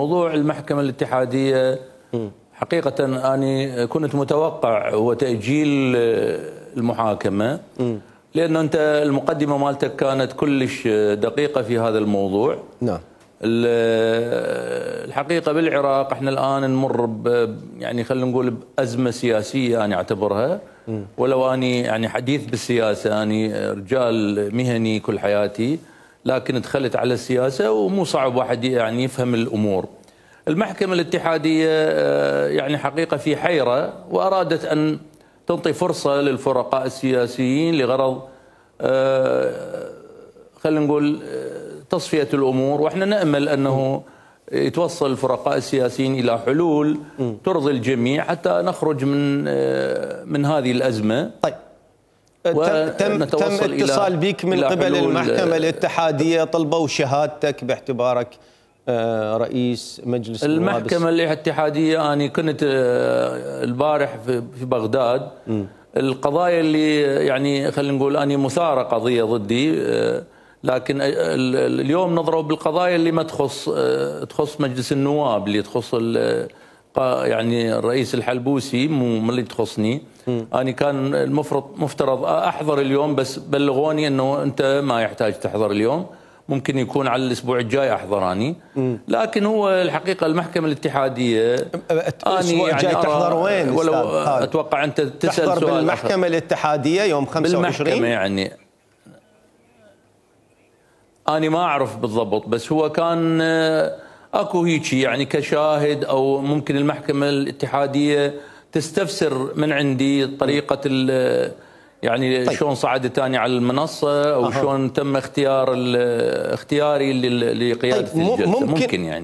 موضوع المحكمة الاتحادية حقيقة أنا كنت متوقع هو تأجيل المحاكمة، لأنه أنت المقدمة مالتك كانت كلش دقيقة في هذا الموضوع. نعم. الحقيقة بالعراق احنا الآن نمر يعني خلينا نقول بأزمة سياسية أنا أعتبرها، ولو أني يعني حديث بالسياسة، أنا رجال مهني كل حياتي، لكن دخلت على السياسة ومو صعب واحد يعني يفهم الأمور. المحكمة الاتحادية يعني حقيقة في حيرة، وأرادت أن تعطي فرصة للفرقاء السياسيين لغرض خلينا نقول تصفية الأمور، وإحنا نأمل أنه يتوصل الفرقاء السياسيين إلى حلول ترضي الجميع حتى نخرج من هذه الأزمة. طيب، تم اتصال بك من قبل المحكمة الاتحادية، طلبوا شهادتك باعتبارك رئيس مجلس النواب. المحكمة الاتحادية أنا كنت البارح في بغداد. القضايا اللي يعني خلينا نقول أنا مثارة قضية ضدي، لكن اليوم نضرب بالقضايا اللي ما تخص مجلس النواب، اللي تخص يعني الرئيس الحلبوسي، مو اللي تخصني. أنا كان مفترض أحضر اليوم، بس بلغوني أنه أنت ما يحتاج تحضر اليوم، ممكن يكون على الأسبوع الجاي أحضر أني. لكن هو الحقيقة المحكمة الاتحادية الأسبوع الجاي يعني تحضر وين؟ ولو أتوقع أنت تسأل تحضر سؤال بالمحكمة الاتحادية يوم 25. بالمحكمة يعني أنا ما أعرف بالضبط، بس هو كان أكو هيك يعني كشاهد، أو ممكن المحكمة الاتحادية تستفسر من عندي طريقة يعني طيب. شلون صعدت أنا على المنصة، أو شلون تم اختياري لقيادة الجلسة. ممكن يعني